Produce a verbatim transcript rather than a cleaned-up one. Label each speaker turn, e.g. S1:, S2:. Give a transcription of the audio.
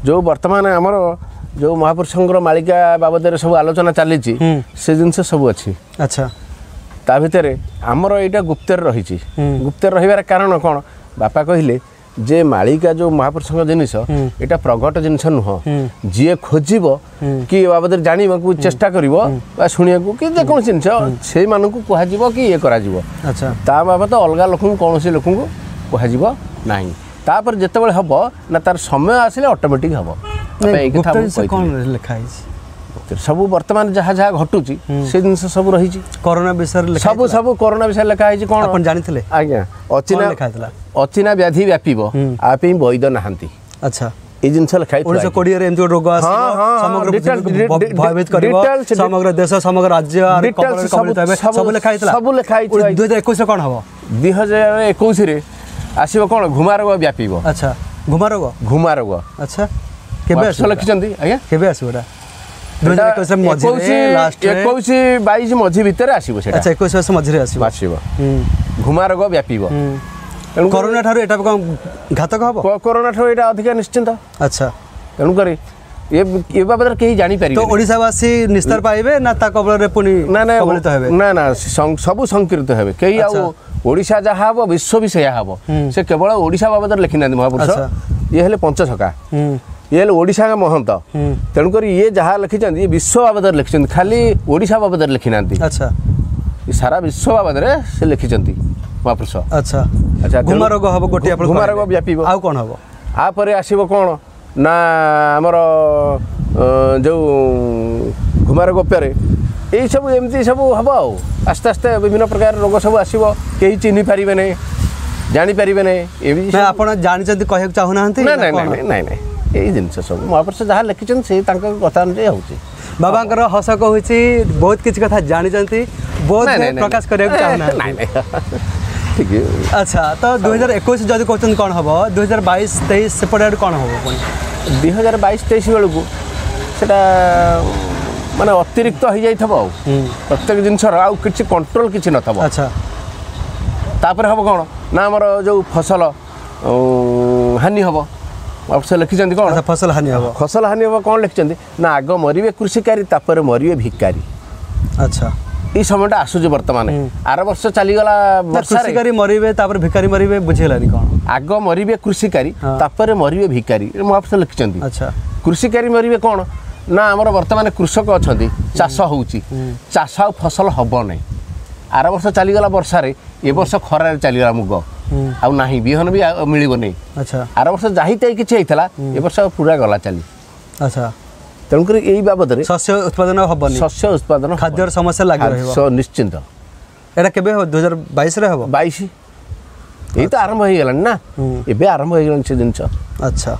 S1: ଯେଉଁ ବର୍ତ୍ତମାନ ଆମର ଯେଉଁ ମହାପୁରୁଷଙ୍କର ମାଳିକା ବାବଦରେ ସବୁ ଆଲୋଚନା ଚାଲିଛି, ସେ ଜିନିଷ ସବୁ ଅଛି।
S2: ଆଚ୍ଛା
S1: ତା ଭିତରେ ଆମର ଏଇଟା ଗୁପ୍ତରେ ରହିଛି। ଗୁପ୍ତରେ ରହିବାର କାରଣ କ'ଣ? ବାପା କହିଲେ ଯେ ମାଳିକା ଯେଉଁ ମହାପୁରୁଷଙ୍କ ଜିନିଷ, ଏଇଟା ପ୍ରଗଟ ଜିନିଷ ନୁହଁ। ଯିଏ ଖୋଜିବ କି ଏ ବାବଦରେ ଜାଣିବାକୁ ଚେଷ୍ଟା କରିବ ବା ଶୁଣିବାକୁ କି ଯେକୌଣସି ଜିନିଷ, ସେଇମାନଙ୍କୁ କୁହାଯିବ କି ଇଏ କରାଯିବ।
S2: ଆଚ୍ଛା
S1: ତା ବାବଦ ଅଲଗା ଲୋକଙ୍କୁ, କୌଣସି ଲୋକଙ୍କୁ କୁହାଯିବ ନାହିଁ। ତାପରେ ଯେତେବେଳେ ହବ ନା, ତାର ସମୟ ଆସିଲେ ଅଟୋମେଟିକ୍ ହବ। ବାପା ଏଇ କଥା
S2: ଗୁପ୍ତ
S1: ଆମକୁ
S2: ଜିନିଷ କ'ଣ
S1: କହିଥିଲେ।
S2: ଲେଖା ହେଇଛି?
S1: ସବୁ ବର୍ତ୍ତମାନ ଯାହା ଯାହା ଘଟୁଛି, ସେ ଜିନିଷ ସବୁ ରହିଛି।
S2: କରୋନା ବିଷୟରେ ଲେଖା
S1: ସବୁ ସବୁ କରୋନା ବିଷୟରେ ଲେଖା ହେଇଛି। କ'ଣ
S2: ଆପଣ ଜାଣିଥିଲେ?
S1: ଆଜ୍ଞା, ଅଚିହ୍ନା
S2: କ'ଣ ଲେଖା ହେଇଥିଲା?
S1: ଅଚିହ୍ନା ବ୍ୟାଧି ବ୍ୟାପିବ, ଆ ପାଇଁ ବୈଦ ନାହାନ୍ତି।
S2: ଆଚ୍ଛା
S1: ଏଇ ଜିନିଷ ଲେଖା ହେଇଥିଲା।
S2: ଉଣେଇଶହ କୋଡ଼ିଏରେ ଏମିତି ଗୋଟେ ରୋଗ ଆସିବ,
S1: ହଁ, ହଁ,
S2: ସମଗ୍ର
S1: details,
S2: ପୃଥିବୀକୁ
S1: ଡି- ଡି-
S2: ଭୟଭୀତ କରିବ,
S1: details,
S2: ସମଗ୍ର ଦେଶ, ସମଗ୍ର ରାଜ୍ୟ ଆର
S1: details
S2: କବଳରେ କବଳିତ ହେବେ,
S1: ସବୁ-
S2: ସବୁ ଲେଖା ହେଇଥିଲା।
S1: ସବୁ ଲେଖା ହେଇଥିଲା।
S2: ଦୁଇ ହଜାର ଏକୋଇଶରେ କ'ଣ ହବ?
S1: ଦୁଇ ହଜାର ଏକୋଇଶରେ ଆସିବ କ'ଣ? ଘୁମା ରୋଗ ବ୍ୟାପିବ।
S2: ଆଚ୍ଛା, ଘୁମା ରୋଗ?
S1: ଘୁମା ରୋଗ।
S2: ଆଚ୍ଛା, କେବେ
S1: ମହାପୁରୁଷ
S2: ଆସିବ?
S1: ଲେଖିଛନ୍ତି ଆଜ୍ଞା।
S2: କେବେ ଆସିବ ଏଟା? ଦୁଇ ହଜାର ଏକୋଇଶରେ ମଝିରେ, ଲାଷ୍ଟରେ?
S1: ଏକୋଇଶ ବାଇଶ ମଝି ଭିତରେ ଆସିବ ସେଟା।
S2: ଆଚ୍ଛା, ଏକୋଇଶ ବର୍ଷ ମଝିରେ ଆସିବ।
S1: ଆସିବ, ଘୁମା ରୋଗ ବ୍ୟାପିବ। ତେଣୁ
S2: କରୋନା ଠାରୁ ଏଟା କ'ଣ ଘାତକ ହବ?
S1: କରୋନା ଠାରୁ ଏଇଟା ଅଧିକା ନିଶ୍ଚିନ୍ତ।
S2: ଆଚ୍ଛା
S1: ତେଣୁକରି ଏ ଏ ବାବଦରେ କେହି
S2: ତ
S1: ଜାଣିପାରିବେ
S2: ଓଡ଼ିଶାବାସୀ ନିସ୍ତାର ପାଇବେ ନା ତା କବଳରେ ପୁଣି
S1: ନା ନା
S2: କବଳିତ ହେବେ?
S1: ନା ନା, ସଂ- ସବୁ ସଂକୀର୍ତ୍ତ ହେବେ। କେହି ଆଉ ଓଡ଼ିଶା ଯାହା ହବ, ବିଶ୍ୱ ବି ସେଇଆ ହବ। ସେ କେବଳ ଓଡ଼ିଶା ବାବଦରେ ଲେଖିନାହାନ୍ତି ମହାପୁରୁଷ।
S2: ଆଚ୍ଛା।
S1: ଇଏ ହେଲେ ପଞ୍ଚସଖା, ଇଏ ହେଲେ ଓଡ଼ିଶା ମହନ୍ତ। ତେଣୁକରି ଇଏ ଯାହା ଲେଖିଛନ୍ତି, ଇଏ ବିଶ୍ୱ ବାବଦରେ ଲେଖିଛନ୍ତି, ଖାଲି ଓଡ଼ିଶା ବାବଦରେ ଲେଖିନାହାନ୍ତି।
S2: ଆଚ୍ଛା
S1: ଏ ସାରା ବିଶ୍ୱ ବାବଦରେ ସେ ଲେଖିଛନ୍ତି ମହାପୁରୁଷ।
S2: ଆଚ୍ଛା
S1: ଆଚ୍ଛା, ତେଣୁ-
S2: ଘୁମା ରୋଗ ହବ ଗୋଟିଏ ଆପଣ
S1: ଘୁମା
S2: କହିଲେ।
S1: ରୋଗ ବ୍ୟାପିବ।
S2: ଆଉ କ'ଣ ହବ?
S1: ଆପରେ ଆସିବ କ'ଣ ନା ଆମର ଅ, ଯେଉଁ ଘୁମା ରୋଗ ପରେ ଏଇସବୁ ଏମିତି ସବୁ ହେବ। ଆଉ ଆସ୍ତେ ଆସ୍ତେ ବିଭିନ୍ନ ପ୍ରକାର ରୋଗ ସବୁ ଆସିବ, କେହି ଚିହ୍ନି ପାରିବେ ନାହିଁ, ଜାଣିପାରିବେ ନାହିଁ, ଏମିତି
S2: ନା
S1: ସବୁ-
S2: ଆପଣ ଜାଣିଛନ୍ତି, କହିବାକୁ ଚାହୁଁନାହାନ୍ତି?
S1: ନା
S2: ନା
S1: ନାଇଁ
S2: କ'ଣ?
S1: ନାଇଁ ନାଇଁ ନାଇଁ, ଏଇ ଜିନିଷ ସବୁ ମହାପୁରୁଷ ଯାହା ଲେଖିଛନ୍ତି, ସେ ତାଙ୍କ କଥା ଅନୁଯାୟୀ ହେଉଛି।
S2: ବାବାଙ୍କର ହସ କହୁଛି ବହୁତ କିଛି କଥା ଜାଣିଛନ୍ତି, ବହୁତ
S1: ନାଇଁ, ନାଇଁ, ନାଇଁ,
S2: ପ୍ରକାଶ କରିବାକୁ
S1: ନାଇଁ
S2: ଚାହୁଁନାହାନ୍ତି।
S1: ନାଇଁ ନାଇଁ, ଠିକ।
S2: ଆଚ୍ଛା, ତ ଦୁଇ ହଜାର ଏକୋଇଶ ଯଦି କହୁଛନ୍ତି କ'ଣ ହବ, ଦୁଇ ହଜାର ବାଇଶ ତେଇଶ ସେପଟେ ଆଡ଼େ କ'ଣ ହବ ପୁଣି?
S1: ଦୁଇ ହଜାର ବାଇଶ ତେଇଶ ବେଳକୁ ସେଟା ମାନେ ଅତିରିକ୍ତ ହେଇଯାଇଥିବ, ଆଉ ପ୍ରତ୍ୟେକ ଜିନିଷର ଆଉ କିଛି କଣ୍ଟ୍ରୋଲ କିଛି ନଥିବ।
S2: ଆଚ୍ଛା
S1: ତାପରେ ହେବ କ'ଣ ନା ଆମର ଯେଉଁ ଫସଲ ଉଁ, ହାନି ହେବ। ଅବଶ୍ୟ ଲେଖିଛନ୍ତି କ'ଣ?
S2: ଆଚ୍ଛା, ଫସଲ ହାନି ହବ।
S1: ଫସଲ ହାନି ହେବ। କ'ଣ ଲେଖିଛନ୍ତି ନା, ଆଗ ମରିବେ କୃଷିକାରୀ, ତାପରେ ମରିବେ ଭିକାରୀ।
S2: ଆଚ୍ଛା
S1: ଏଇ ସମୟଟା ଆସୁଛି ବର୍ତ୍ତମାନ। ଆର ବର୍ଷ ଚାଲିଗଲା
S2: ନା,
S1: ବର୍ଷାରେ।
S2: କୃଷିକାରୀ ମରିବେ ତାପରେ ଭିକାରୀ ମରିବେ, ବୁଝିହେଲାନି କ'ଣ?
S1: ଆଗ ମରିବେ କୃଷିକାରୀ,
S2: ହଁ।
S1: ତାପରେ ମରିବେ ଭିକାରୀ, ଏ ମହାପୁରୁଷ ଲେଖିଛନ୍ତି।
S2: ଆଚ୍ଛା
S1: କୃଷିକାରୀ ମରିବେ କ'ଣ ନା, ଆମର ବର୍ତ୍ତମାନ କୃଷକ ଅଛନ୍ତି, ଚାଷ ହେଉଛି, ଚାଷ ଆଉ ଫସଲ ହେବ ନାହିଁ। ଆର ବର୍ଷ ଚାଲିଗଲା ବର୍ଷାରେ, ଏ ବର୍ଷ ଖରାରେ ଚାଲିଗଲା ମୁଗ, ଆଉ ନାହିଁ, ବିହନ ବି ଆଉ ମିଳିବନି।
S2: ଆଚ୍ଛା
S1: ଆର ବର୍ଷ ଯାହି ତାହି କିଛି ହେଇଥିଲା, ଏ ବର୍ଷ ପୁରା ଗଲା ଚାଲି।
S2: ଆଚ୍ଛା
S1: ତେଣୁକରି ଏଇ ବାବଦରେ
S2: ଶସ୍ୟ ଉତ୍ପାଦନ ହବନି।
S1: ଶସ୍ୟ ଉତ୍ପାଦନ
S2: ଖାଦ୍ୟର ସମସ୍ୟା ଲାଗି ରହିବ।
S1: ଖାଦ୍ୟ ନିଶ୍ଚିନ୍ତ।
S2: ଏଇଟା କେବେ ହବ? ଦୁଇ ହଜାର ବାଇଶରେ ହବ?
S1: ବାଇଶ ଏଇ ତ ଆରମ୍ଭ ହେଇଗଲାଣି ନା, ଏବେ ଆରମ୍ଭ ହେଇଗଲାଣି ସେ ଜିନିଷ।
S2: ଆଚ୍ଛା।